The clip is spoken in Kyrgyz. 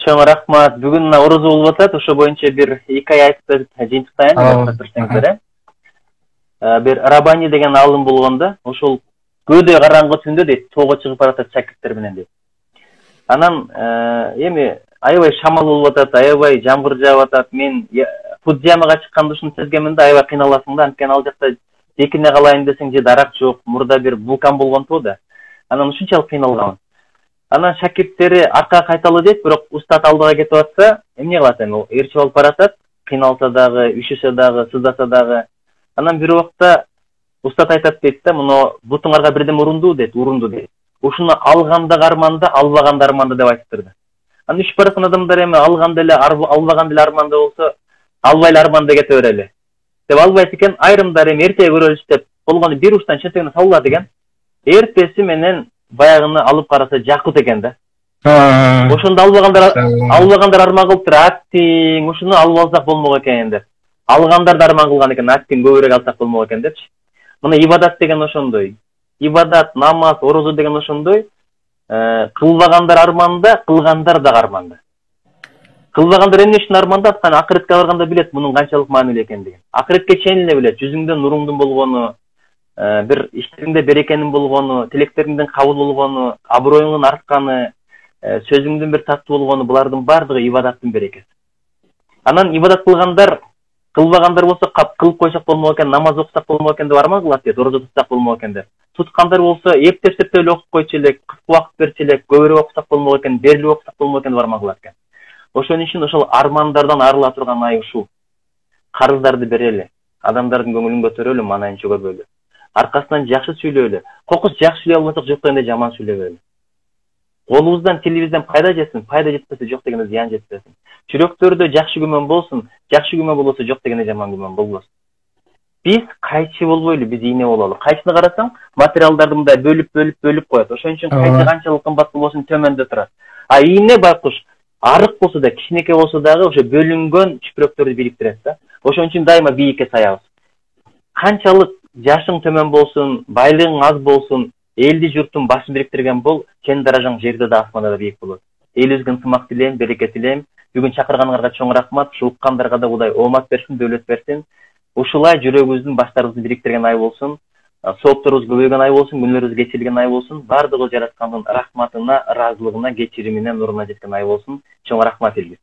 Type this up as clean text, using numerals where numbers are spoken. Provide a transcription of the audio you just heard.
Чоң рахмат. Бүгүн мына орозо болуп атат. Ошо боюнча бир эки ай айтып жыйынтыктайын деп турсаңыздар. Бир Рабани деген алым болгон да, ошол көөдөй караңгы түндө дейт, тоого чыгып баратат шакирттер менен дейт. Анан эми аябай шамал болуп атат, аябай жамгыр жаап атат. Мен Фудзиямага чыкканда ушуну сезгенмин да, аябай кыйналасың да, анткени ал жакта жекине калайын десең же дарак жок, мурда бир вулкан болгонту да. Анан ушунчалык кыйналгам. Анан шакирттери аркага кайталы дейт, бирок устат алдыга кетип атса, эмне кылат эми? Ал ээрчип алып баратат, кыйналса дагы, үшүсө дагы, сыздаса дагы. Анан бир убакта устат айтат дейт да, муну бутуңарга бирдеме урунду дейт, Ушуну алганда арманда, албаганда арманда деп айтыптыр да. Анан үшүп бараткан адамдар эми алганда эле, албаганда эле арманда болсо, албай эле арманда кете берели деп албайт экен. Айрымдар эми эртеге көрөлүчү деп болгону бир учтан чентегине салуулат экен. Эртеси менен баягыны алып караса жакут экен да. Ошондо албагандар арман кылыптыр, аттиң ушуну алып алсак болмок экен деп. Алгандар да арман кылган экен, аттиң көбүрөөк алсак болмок экен депчи. Мына ибадат деген ошондой. Ибадат, намаз, орозо деген ошондой. Кылбагандар арманда, кылгандар да арманда. Кылбагандар эмне үчүн арманда? Анткени акыретке барганда билет мунун канчалык маанилүү экендигин. Акыретке чейин эле билет, жүзүңдөн нуруңдун болгону, бир иштериңде берекенин болгону, тилектериңдин кабыл болгону, аброюңдун артканы, сөзүңдүн бир таттуу болгону, булардын баардыгы ибадаттын берекеси. Анан ибадат кылгандар, кылбагандар болсо кылып койсок болмок экен, намаз окусак болмок экен деп арман кылат дейт, орозо тутсак болмок экен деп. Туткандар болсо эптеп эле окуп койчу элек, кыска убакыт берчү элек, көбүрөөк окусак болмок экен, берилип окусак болмок экен деп арман кылат экен. Ошон үчүн ошол армандардан арыла турган ай ушул. Карыздарды берели, адамдардын көңүлүн көтөрөлү, маанайын чөгөрбөлү. Аркасынан жакшы сүйлөөлү. Кокус жакшы сүйлөй албасак жок дегенде жаман сүйлөбөлү. Колубуздан, тилибизден пайда жетсин, пайда жетпесе жок дегенде зыян жетпесин. Жүрөктөрдө жакшы күмөн болсун, жакшы күмөн болбосо жок дегенде жаман күмөн болбосун. Биз кайчы болбойлу, биз ийне бололу. Кайчыны карасаң, материалдарды мындай бөлүп коет. Ошон үчүн кайчы канчалык кымбат болбосун төмөндө турат. А ийне байкуш арык болсо да, кичинекей болсо дагы ошо бөлүнгөн чүпүрөктөрдү бириктирет да. Ошон үчүн дайыма бийикке саябыз. Канчалык жашың төмөн болсун, байлыгың аз болсун, элди журттун башын бириктирген бол, сенин даражаң жерде да, асманда да бийик болот. Элибизге ынтымак тилейм, береке тилейм. Бүгүн чакырганыңарга чоң рахмат. Ушул уккандарга да Кудай оомат берсин, дөөлөт берсин. Ушулай жүрөгүбүздүн, баштарыбызды бириктирген ай болсун. Соопторубуз көбөйгөн ай болсун, күнүлөрүбүз кечирилген ай болсун. Бардыгы жараткандын рахматына, ыраазылыгына, кечиримине, нуруна жеткен ай болсун. Чоң рахмат элибиз.